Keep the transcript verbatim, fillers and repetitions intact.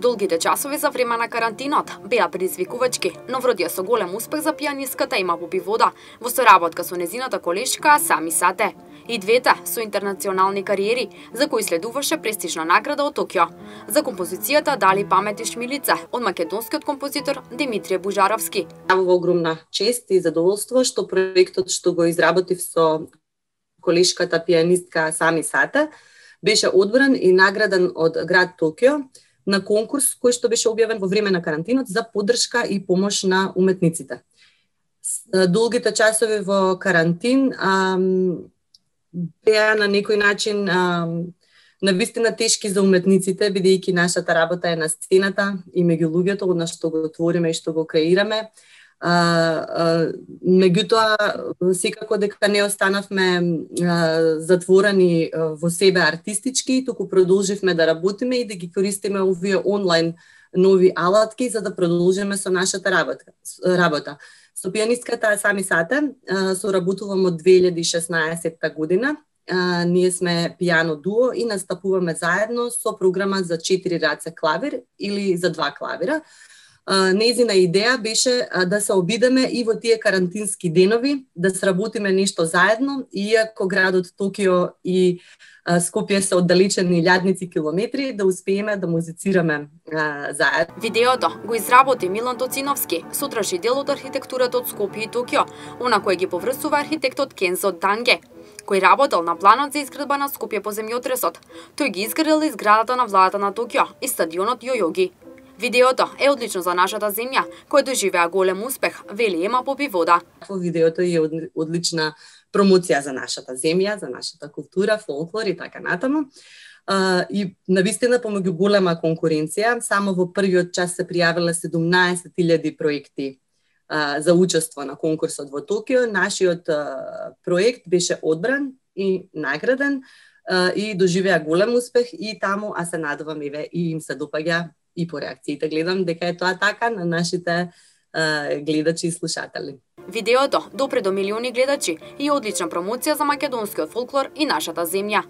Долгите часови за време на карантинот беа предизвикувачки, но вродија со голем успех за пијанистката Има Попивода во соработка со незината колешка Сами Сате. И двете со интернационални кариери, за кои следуваше престижна награда од Токио. За композицијата дали памет и шмилица од македонскиот композитор Димитрije Бужаровски. Во огромна чест и задоволство што проектот што го изработив со колешката пијанистка Сами Сате беше одбран и награден од град Токио на конкурс кој што беше објавен во време на карантинот за поддршка и помош на уметниците. Долгите часови во карантин ам, беа на некој начин ам, навистина тешки за уметниците, бидејќи нашата работа е на сцената и меѓу луѓето, одна што го твориме и што го креираме. А, а, меѓутоа, секако дека не останавме а, затворени а, во себе артистички, туку продолживме да работиме и да ги користиме овие онлайн нови алатки за да продолжиме со нашата работа. работа. Со пијанистката Сами Сате а, соработувам од две илјади и шеснаесетта година. А, ние сме пијано дуо и настапуваме заедно со програма за четири раце клавир или за два клавира. Нејзина идеја беше да се обидеме и во тие карантински денови, да сработиме нешто заедно, иако градот Токио и Скопје се оддалечени илјадници километри, да успееме да музицираме заедно. Видеото го изработи Милан Тоциновски, содржи дел од архитектурата од Скопје и Токио, она кој ги поврзува архитектот Кензо Данге, кој работел на планот за изградба на Скопје по земјотресот. Тој ги изградил и зградата на владата на Токио и стадионот Јојоги. Видеото е одлично за нашата земја, кој доживеа голем успех, вели Има Попивода. Во видеото е одлична промоција за нашата земја, за нашата култура, фолклор и така натаму. И навистина помеѓу голема конкуренција, само во првиот час се пријавиле седумнаесет илјади проекти за учество на конкурсот во Токио. Нашиот проект беше одбран и награден и доживеа голем успех и таму, а се надевам еве и им се допаѓа и по реакциите гледам дека е тоа така на нашите е, гледачи и слушатели. Видеото допре до милиони гледачи и одлична промоција за македонскиот фолклор и нашата земја.